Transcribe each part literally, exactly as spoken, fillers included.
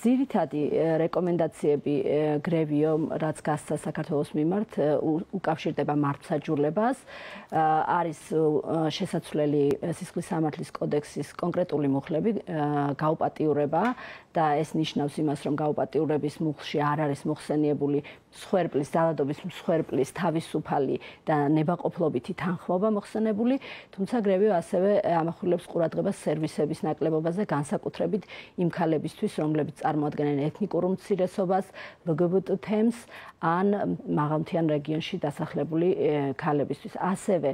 ძირითადი რეკომენდაციები GREVIO, რაც გასცა საქართველოს მიმართ, უკავშირდება მართლმსაჯულებას, არის შესაძლებელი სისხლის სამართლის კოდექსის კონკრეტული მუხლები, გაუპატიურება და ეს ნიშნავს იმას, რომ გაუპატიურების მუხლში არ არის მოხსენიებული მსხვერპლის, ძალადობის მსხვერპლის თავისუფალი და ნებაყოფლობითი თანხმობა მოხსენებული, თუმცა GREVIO ასევე ამახვილებს ყურადღებას სერვისების ნაკლებობაზე, განსაკუთრებით იმ ქალებისთვის, რომლებიც წარმოადგენენ ეთნიკურ უმცირესობას, ლგბტ თემს ან მაღალმთიან რეგიონში დასახლებული ქალებისთვის. ასევე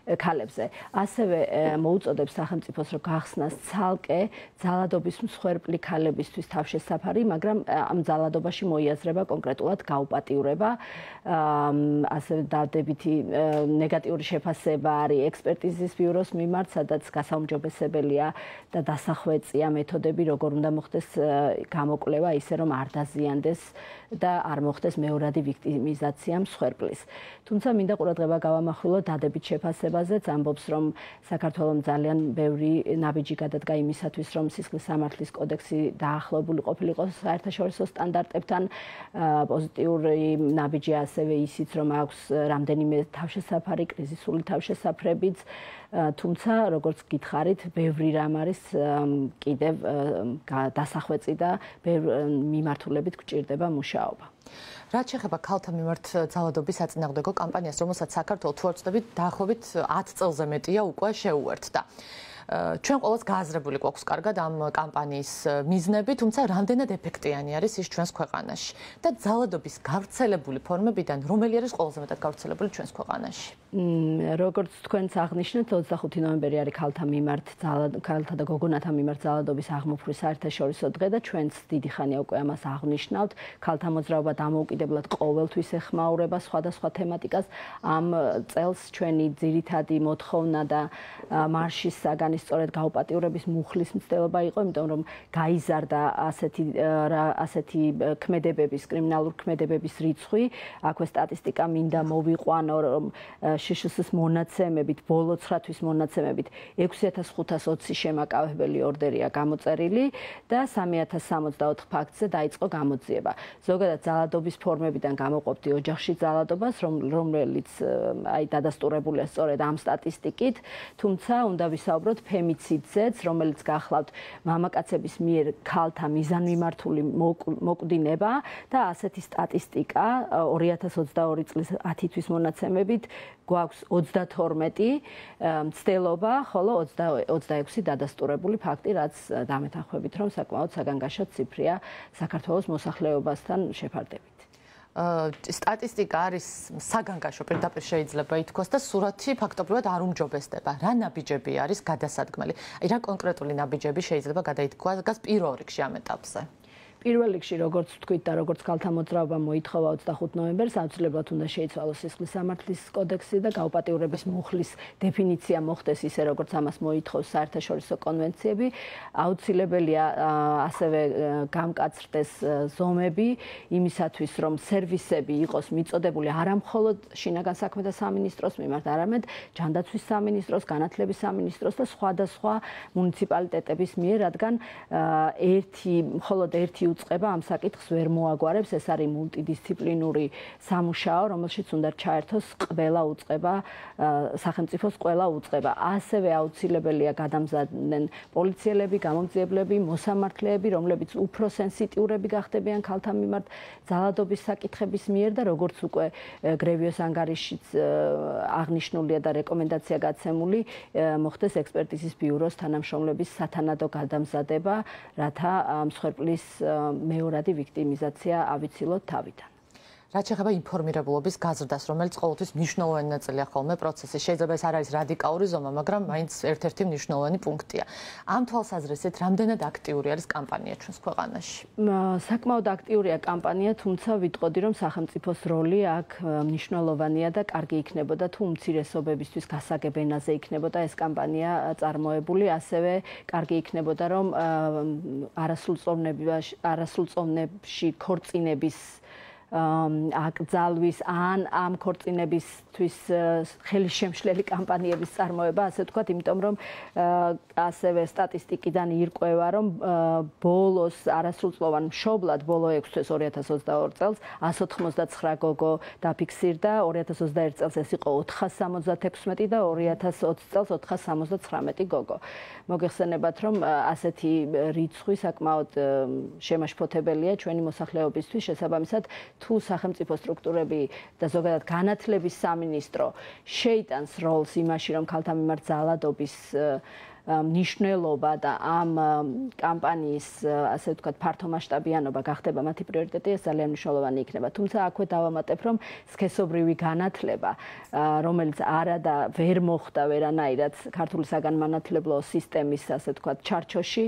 ქალებზე. ასევე მოუწოდებს სახელმწიფოს, რომ გახსნას ცალკე ძალადობის მსხვერპლი ქალებისთვის თავშესაფარი, მაგრამ ამ ძალადობაში მოიაზრება კონკრეტულად გაუპატიურება, ასევე დადებითი ნეგატიური შეფასება არის ექსპერტიზის ბიუროს მიმართ, სადაც გასაუმჯობესებელია და დასახვეწია მეთოდები, როგორ უნდა მოხდეს გამოკვლევა, ისე რომ არ დაზიანდეს და არ მოხდეს მეორადი ვიქტიმიზაცია მსხვერპლის. თუმცა მინდა ყურადღება გავამახვილო დადებით შეფასებაზეც, ამბობს, რომ საქართველოს ძალიან ბევრი ნაბიჯი გადადგა იმისათვის, რომ სისხლის სამართლის კოდექსი დაახლოებული ყოფილიყო საერთაშორისო სტანდარტებთან. პოზიტიური ნაბიჯია ასევე ისიც, რომ აქვს რამდენიმე თავშესაფარი, კრიზისული თავშესაფრებიც, თუმცა როგორც გითხარით, ბევრი რამ არის კიდევ დასახვეწი და მიმართულებით გვჭირდება მუშაობა. რაც შეეხება ქალთა მიმართ ძალადობის საწინააღმდეგო კამპანიას, რომელსაც საქართველოს თუ არ ვცდებით, დაახლოებით ათ წელზე მეტია უკვე შეუერთდა. ჩვენ ყოველს გააზრებული გვაქვს კარგად ამ კამპანიის მიზნები, თუმცა რამდენად ეფექტიანი არის ის ჩვენს ქვეყანაში და ძალადობის გავრცელებული ფორმებიდან რომელი არის ყველაზე მეტად გავრცელებული ჩვენს ქვეყანაში? როგორც თქვენც აღნიშნეთ, ოცდახუთი ნოემბერი არის ქალთა მიმართ ქალთა და გოგონათა მიმართ ძალადობის აღმოფხვის საერთაშორისო დღე და ჩვენც დიდი ხანია უკვე ამას აღნიშნავთ. ქალთა მოძრაობა დამოუკიდებლად ყოველთვის ეხმაურება სხვადასხვა თემატიკას. ამ წელს ჩვენი ძირითადი მოთხოვნა და მარშის საგანი სწორედ გაუპატიურების მუხლის მცდელობა იყო, იმიტომ რომ გაიზარდა ასეთი ასეთი ქმედებების, კრიმინალური ქმედებების რიცხვი. აქვე სტატისტიკა მინდა მოვიყვანო, რომ შშს-ის მონაცემებით, ბოლო ცხრა თვის მონაცემებით ექვსი ათას ხუთას ოცი შემაკავებელი ორდერია გამოწერილი და სამი ათას სამოცდაოთხ ფაქტზე დაიწყო გამოძიება. ზოგადად ძალადობის ფორმებიდან გამოყოფდი ოჯახში ძალადობას, რომელიც აი დადასტურებულია სწორედ ამ სტატისტიკით, თუმცა უნდა ვისაუბროთ ფემიციდზეც, რომელიც გახლავთ მამაკაცების მიერ ქალთა მიზანმიმართული მოკვდინება და ასეთი სტატისტიკა ორი ათას ოცდაორი წლის ათი თვის მონაცემებით გვაქვს ოცდათორმეტი მცდელობა, ხოლო ოცდაექვსი დადასტურებული ფაქტი, რაც დამეთანხმებით, რომ საკმაოდ საგანგაშო ციფრია საქართველოს მოსახლეობასთან შეფარდებით. სტატისტიკა არის საგანგაშო, პირდაპირ შეიძლება ითქვას და სურათი ფაქტობრივად არ უმჯობესდება. რა ნაბიჯები არის გადასადგმელი? აი რა კონკრეტული ნაბიჯები შეიძლება გადაითქვას პირველ რიგში ამ ეტაპზე? პირველ რიგში, როგორც ვთქვით და როგორც ქალთა მოძრაობა მოითხოვა ოცდახუთ ნოემბერს, აუცილებლად უნდა შეიცვალოს სისხლის სამართლის კოდექსი და გაუპატიურების მუხლის დეფინიცია მოხდეს ისე, როგორც ამას მოითხოვს საერთაშორისო კონვენციები. აუცილებელია ასევე გამკაცრდეს ზომები იმისათვის, რომ სერვისები იყოს მიწოდებული არა მხოლოდ შინაგან საქმეთა სამინისტროს მიმართ, არამედ ჯანდაცვის სამინისტროს, განათლების სამინისტროს და სხვადასხვა მუნიციპალიტეტების მიერ, რადგან ერთი მხოლოდ ერთი უწყება ამ საკითხს ვერ მოაგვარებს, ეს არის მულტიდისციპლინური სამუშაო, რომელშიც უნდა ჩაერთოს ყველა უწყება, სახელმწიფოს ყველა უწყება. ასევე აუცილებელია გადამზადდნენ პოლიციელები, გამომძიებლები, მოსამართლეები, რომლებიც უფრო სენსიტიურები გახდებიან ქალთა მიმართ ძალადობის საკითხების მიერ და როგორც უკვე GREVIO-ს ანგარიშიც აღნიშნულია და რეკომენდაცია გაცემული, მოხდეს ექსპერტიზის ბიუროს თანამშრომლების სათანადო გადამზადება, რათა მსხვერპლის მეორადი ვიქტიმიზაცია ავიცილოთ თავიდან. რაც შეეხება ინფორმირებულობის გაზრდას, რომელიც ყოველთვის მნიშვნელოვანი ნაწილია ხოლმე პროცესის. შეიძლება ეს არ არის რადიკალური ზომა, მაგრამ მაინც ერთ-ერთი მნიშვნელოვანი პუნქტია. ამ თვალსაზრისით, რამდენად აქტიური არის კამპანია ჩვენს ქვეყანაში? საკმაოდ აქტიურია კამპანია, თუმცა ვიტყოდი, რომ სახელმწიფოს როლი აქ მნიშვნელოვანია და კარგი იქნებოდა თუ უმცირესობებისთვის გასაგებ ენაზე იქნებოდა ეს კამპანია წარმოებული, ასევე კარგი იქნებოდა, რომ არასრულწლოვნებში ქორწინების აკრძალვის ან ამ ქორწინებისთვის ხელისშემშლელი კამპანიების წარმოება, ასე ვთქვათ, იმიტომ რომ ასევე სტატისტიკიდან ირკვევა, რომ ბოლოს არასრულწლოვან მშობლად ბოლო ექვს თვეს ორი ათას ოცდაორი წელს εκατს ოთხმოცდაცხრა გოგო დაფიქსირდა, ორი ათას ოცდაერთი წელს ეს იყო ოთხას სამოცდათექვსმეტი და ორი ათას ოცი წელს ოთხას სამოცდაცხრამეტი გოგო. მოგეხსენებათ, რომ ასეთი რიცხვი საკმაოდ შემაშფოთებელია ჩვენი მოსახლეობისთვის, შესაბამისად თუ სახელმწიფო სტრუქტურები და ზოგადად განათლების სამინისტრო შეიტანს როლს იმაში, რომ ქალთა მიმართ ძალადობის მნიშვნელობა და ამ კამპანიის, ასე ვთქვათ, ფართომასშტაბიანობა გახდება მათი პრიორიტეტი, ეს ძალიან მნიშვნელოვანი იქნება. თუმცა აქვე დავამატებ, რომ სქესობრივი განათლება, რომელიც არა და ვერ მოხდა ვერანაირად ქართული საგანმანათლებლო სისტემის, ასე ვთქვათ, ჩარჩოში,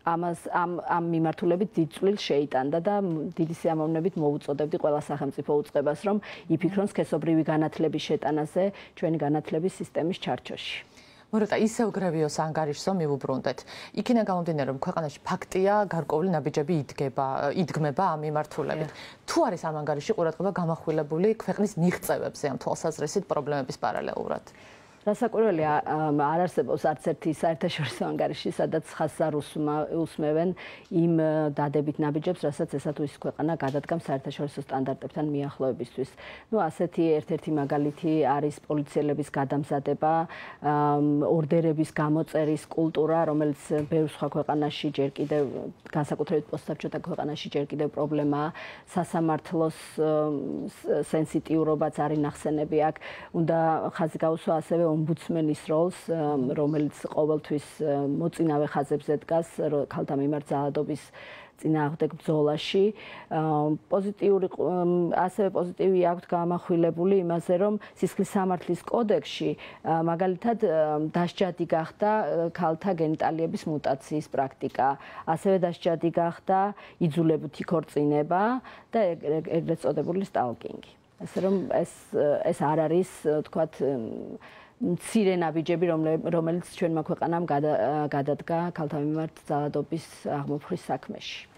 ამას ამ ამ მიმართულებით დიდ წვლილს შეიტანდა და დიდი სიამოვნებით მოუწოდებდი ყველა სახელმწიფო უწყებას, რომ იფიქრონ სქესობრივი განათლების შეტანაზე ჩვენი განათლების სისტემის ჩარჩოში. მორეტა, ისევ გრევიოს ანგარიშსო მივუბრუნდეთ. იქიდან გამომდინარე, რომ ქვეყანაში ფაქტია გარკვეული ნაბიჯები იდგება, იდგმება ამ მიმართულებით. თუ არის ამ ანგარიში ყურადღება გამახვილებული ქვეყნის მიღწევებზე ამ თვალსაზრისით პრობლემების პარალელურად? რასაკვირველია, არ არსებობს არც ერთი საერთაშორისო ანგარიში, სადაც ხაზს არ უსმევენ იმ დადებით ნაბიჯებს, რასაც ესა თუ ის ქვეყანა გადადგამს საერთაშორისო სტანდარტებთან მიახლოებისთვის. ნუ ასეთი ერთ-ერთი მაგალითი არის პოლიციელების გადამზადება, ორდერების გამოწერის კულტურა, რომელიც ბევრ სხვა ქვეყანაში ჯერ კიდევ, განსაკუთრებით პოსტსაბჭოთა ქვეყანაში ჯერ კიდევ პრობლემაა, სასამართლოს სენსიტიურობაც არის ნახსენები აქ. უნდა ხაზი გაუსვა ასევე ომბუდსმენის როლს, რომელიც ყოველთვის მოწინავე ხაზებზე დგას ქალთა მიმართ ძალადობის წინააღმდეგ ბრძოლაში. პოზიტიური ასევე პოზიტივი აქვთ გამახვილებული იმაზე, რომ სისხლის სამართლის კოდექსში მაგალითად დასჯადი გახდა ქალთა გენიტალიების მუტაციის პრაქტიკა, ასევე დასჯადი გახდა იძულებითი ქორწინება და ეგრეთ წოდებული სტალკინგი. ასე რომ ეს ეს არ არის, თქვათ, მცირე ნაბიჯები, რომელიც ჩვენმა ქვეყანამ გადადგა ქალთა მიმართ ძალადობის აღმოფხრის საქმეში.